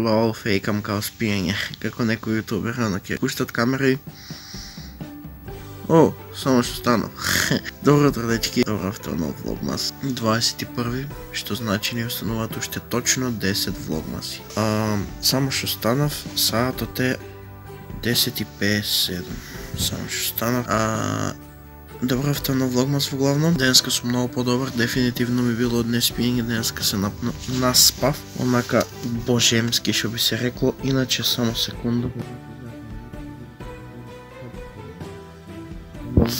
пробавал фейкам као спиење, како некој јутубер, ќе пуштат камера и... О, само што станав. Добро утро, дечки. Добро утро, нов влогмас. 21, што значи ни остануваат уште точно 10 влогмаси. Само што станав, саатот е 10:57. Само што станав. Добро утро, нов влогмас во главно. Денеска сум многу подобар, дефинитивно ми било од неспиење, денеска се наспав, онака божемски што би се рекло, иначе само секунда.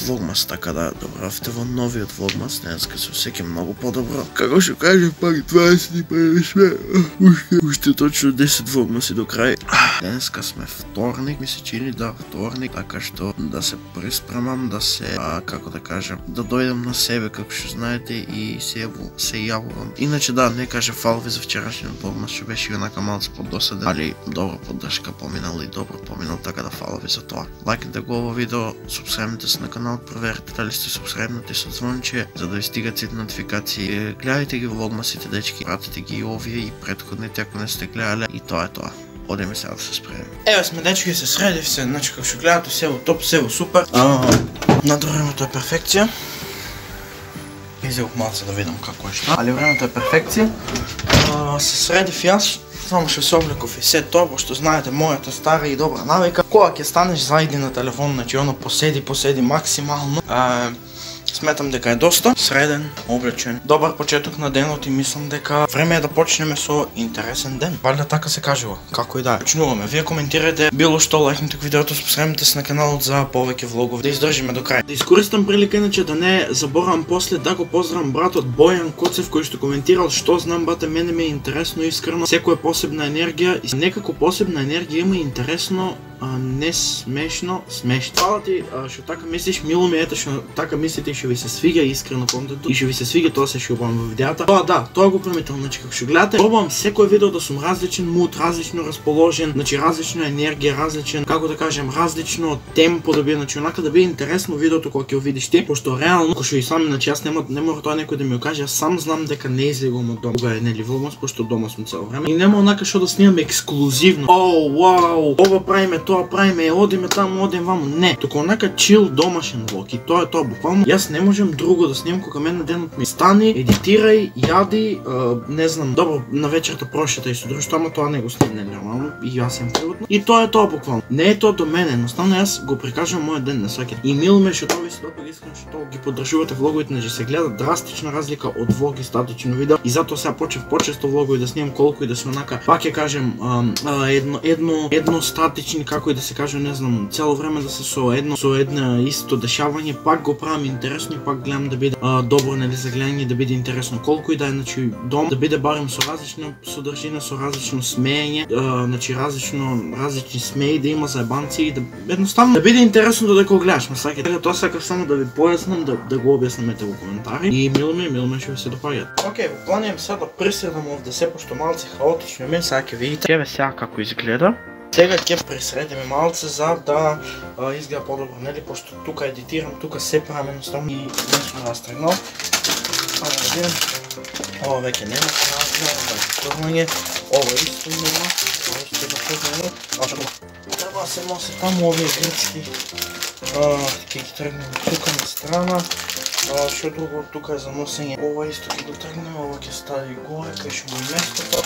Влогмас, така да, добравте во новиот влогмас, денеска се осеќам многу подобро. Како што кажев, пак 21 сме, уште точно 10 влогмаси до крај. Денеска сме вторник, ми се чини да вторник, така што да се приспремам, да се, како да кажам, да дојдам на себе, како што знаете, и се јавувам. Иначе да, не кажа фалви за вчерашниот влогмас, што беше онака малце поддосаден, али добро поддршка поминал и добро поминал, така да фалви за тоа. Лајкнете го ово видео, субскрајбнете се на канал, проверете дали сте субскрајбнати со звонче, за да ви стигат сите нотификации. Гледајте ги влогмасите, дечки, пратете ги и овие и претходните ако не сте гледале, и тоа е тоа. Одеме сега да се спремем. Еве сме, дечки, се средив се, значи како што гледате, сево топ, сево супер. Надо времето е перфекција. Изелох малце да видам како е што. Али времето е перфекција. Се средив јас, само што се облеков и се тоа, пошто знаете мојата стара и добра навика. Кога ќе станеш зајди на телефон, значи оно поседи максимално. Сметам дека е доста среден, облечен, добар почеток на денот и мислам дека време е да почнеме со интересен ден. Валјда така се кажува, како и да е. Почнуваме, вие коментирате било што, лајкнете видеото, субскрајбнете се на каналот за повеќе влогови, да издржиме до крај. Да искористам прилика иначе да не заборавам после да го поздравам братот Бојан Коцев кој што коментирал што знам бате, мене ми е интересно искрено, секој е посебна енергија и некако посебна енергија има интересно, не смешно, смешно. Фала ти што така мислиш, мило ми ете што така мислите и што ви се свиѓа искрено контентот и што ви се свиѓа тоа се што убавам во видеата. Тоа да, тоа го приметам, значи како што гледате, пробувам секој видео да сум различен муд, различно расположен, значи различна енергија, различен, како да кажем, различно темпо да биде, значи онака да биде интересно видеото кога ќе го видиш ти, пошто реално, како што и сам, значи јас не мора тоа некој да ми го каже, јас сам знам дека не излегувам од дома. Кога е нели влогмас, пошто дома сум цело време. И нема онака што да снимам ексклузивно. О, вау, ова правиме, тоа правиме, одиме таму, одиме ваму. Не, туку онака чил домашен влог и тоа е тоа буквално. Јас не можам друго да снимам кога мене денот ми стани, едитирај, јади, не знам, добро на вечерта прошетај со друштво, ама тоа не го снимам нормално и јас сум приватно. И тоа е тоа буквално. Не е тоа до мене, едноставно јас го прикажувам мојот ден на сваки. И мило ме што тоа ви се допаѓа искрено што ги поддржувате влоговите, значи се гледа драстична разлика од влог и статично видео. И затоа сега почнав почесто влогови да снимам колку и да се онака, пак ќе кажем, едно статични, како и да се каже, не знам, цело време да се со една исто дешавање, пак го правам интересно и пак гледам да биде добро, нели, за гледање, да биде интересно колку и да е, значи дом да биде барем со различна содржина, со различно смеење, значи различни смеи да има заебанци и да едноставно да биде интересно додека го гледаш, ме сакате. Тоа сакав само да ви појаснам, да го објаснамете во коментари и мило ми што ви се допаѓаат. Океј, планирам сега да присредам овде се, пошто малце хаотично ми, сега ќе видите. Еве сега како изгледа. Сега ќе пресредиме малце за да изгледа подобро, нели, пошто тука едитирам, тука се правам едноставно и не сум растргнал. Ова веќе нема разлика, ова исто нема, ова исто да познаме. Треба да се носи таму овие грцки, ќе ги тргнеме тука на страна. Што друго тука е за носење, ова исто ќе го тргнеме, ова ќе стави горе, кај што го местото.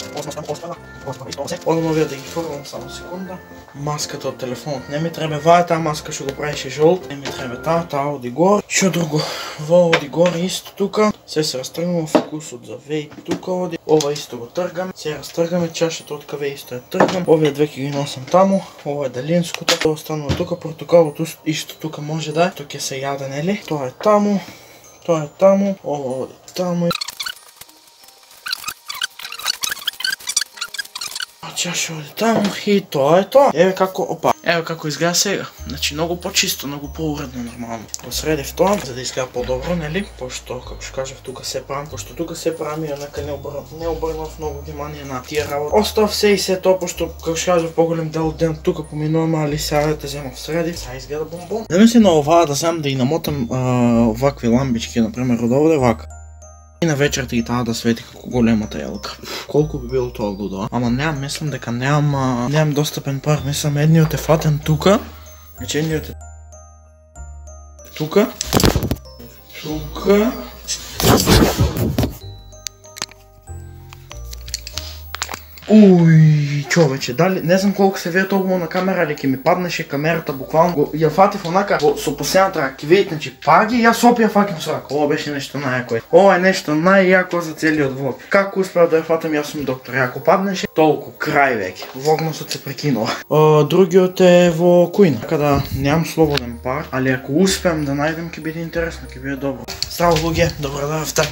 Одам овие да ги фрлам, само секунда. Маската од телефонот не ми треба, ваа таа маска што го правише жолт, не ми треба таа оди горе. Што друго, во оди горе исто тука, се растргнува, фокусот за вејп тука оди, ова исто го тргам, се растргаме, чашата од каве исто ја тргам, овие две ќе ги носам таму, ова е далинското, тоа останува тука, портокалот исто тука може да е, тоа ќе се јаде, нели, тоа е таму, ова оди таму. Чаша оди таму и тоа е тоа. Еве како изгледа сега. Значи многу почисто, многу поуредно нормално. Посредив тоа за да изгледа подобро, нели? Пошто како што кажав тука се правам, пошто тука се правам и онака не обрнав многу внимание на тие работи. Остав се и се тоа пошто како што кажав поголем дел од денот тука поминувам, али сега те земав средив. Сега изгледа бомбон. Да мислам на оваа да земам да и намотам вакви ламбички, например од овде вака. И на вечерта и таа да свети како големата елка. Колку би било тоа лудо, ама немам, мислам дека немам достапен пар, мислам едниот е фатен тука, значи едниот е тука. Уй, човече, дали, не знам колку се види толку на камера, али ќе ми паднеше камерата буквално. Ја фатив онака со последната рака, ќе видите, значи паги, јас опија факим со рака. Ова беше нешто најако. Ова е нешто најјако за целиот влог. Како успеав да ја фатам, јас сум доктор. Ако паднеше, толку, крај веќе. Влогносот се прекинува. Другиот е во кујна. Така да немам слободен пар, али ако успеам да најдем, ќе биде интересно, ќе биде добро. Здраво луѓе, добро дојавте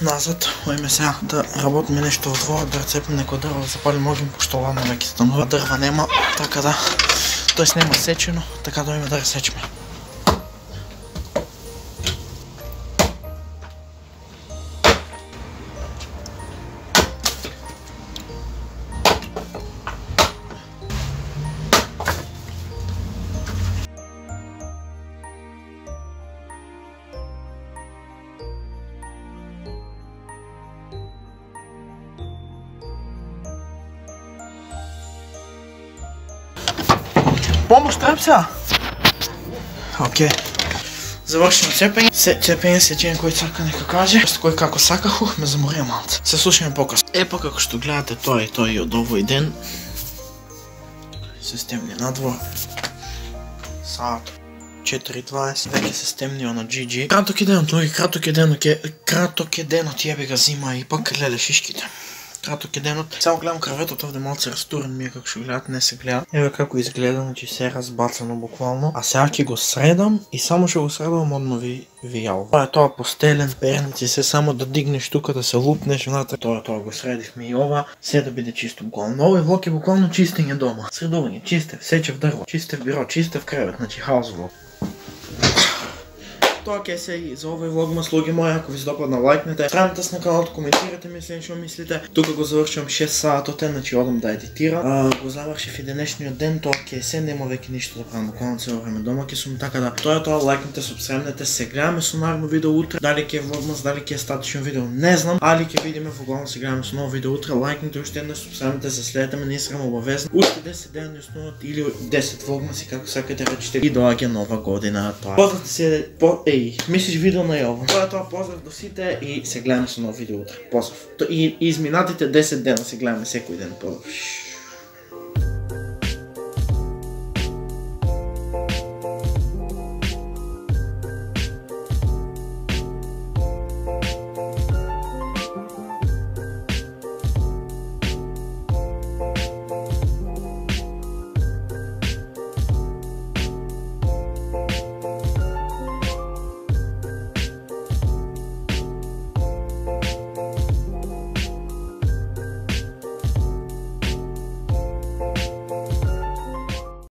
назад. Ојме сега да работиме нешто во дворот, да рецепиме некој дрво, да запалим огин, пошто ладно веќе станува. Дрва нема, така да, тоест нема сечено, така да ојме да ресечеме. Помош треб сега? Окей. Завршено цепење. Цепење сечење кој сака нека каже. Кој како сакаху, ме заморија малце. Се слушаме покасно. Епа како што гледате тоа и од овој ден. Се стемни надвор. Саат 4:20. Веќе се стемнио на GG. Краток е денот, луѓе, краток е денот, јеби га зима и пак леле шишките. Краток е денот. Само гледам крветот овде малце растурен ми е како што гледат, не се гледа. Еве како изгледа, значи се разбацано буквално. А сега ќе го средам и само што го средам однови вијал. Тоа е тоа постелен, перници, се само да дигнеш тука, да се лупнеш внатре. Тоа го средивме и ова, се да биде чисто буквално. Овој влог е буквално чистење дома. Средување, чистев, сечев дрво, чистев биро, чистев кревет, значи хаос влог. Тоа ќе се и за овој влогмас, луѓе мои, ако ви се допадна, лајкнете, страните се на каналот, коментирате мислење што мислите. Тука го завршувам 6 саатот, значи одам да едитирам. Го завршив и денешниот ден, тоа ќе се, нема веќе ништо да правам, буквално цело време дома ќе сум, така да тоа е тоа, лајкнете, субскрајбнете, се гледаме со наредно видео утре. Дали ќе е влогмас, дали ќе е статично видео, не знам, али ќе видиме во се гледаме со ново видео утре. Лајкнете уште еднаш, субскрајбнете, за следете ме на Инстаграм обавезно. Уште 10 дена ни остануваат или 10 влогмаси, како сакате речете, и доаѓа нова година. Поздравте се, мислиш видео на јово. Тоа е тоа, поздрав до сите и се гледаме со ново видео утре. Поздрав. И изминатите 10 дена се гледаме секој ден. Поздрав.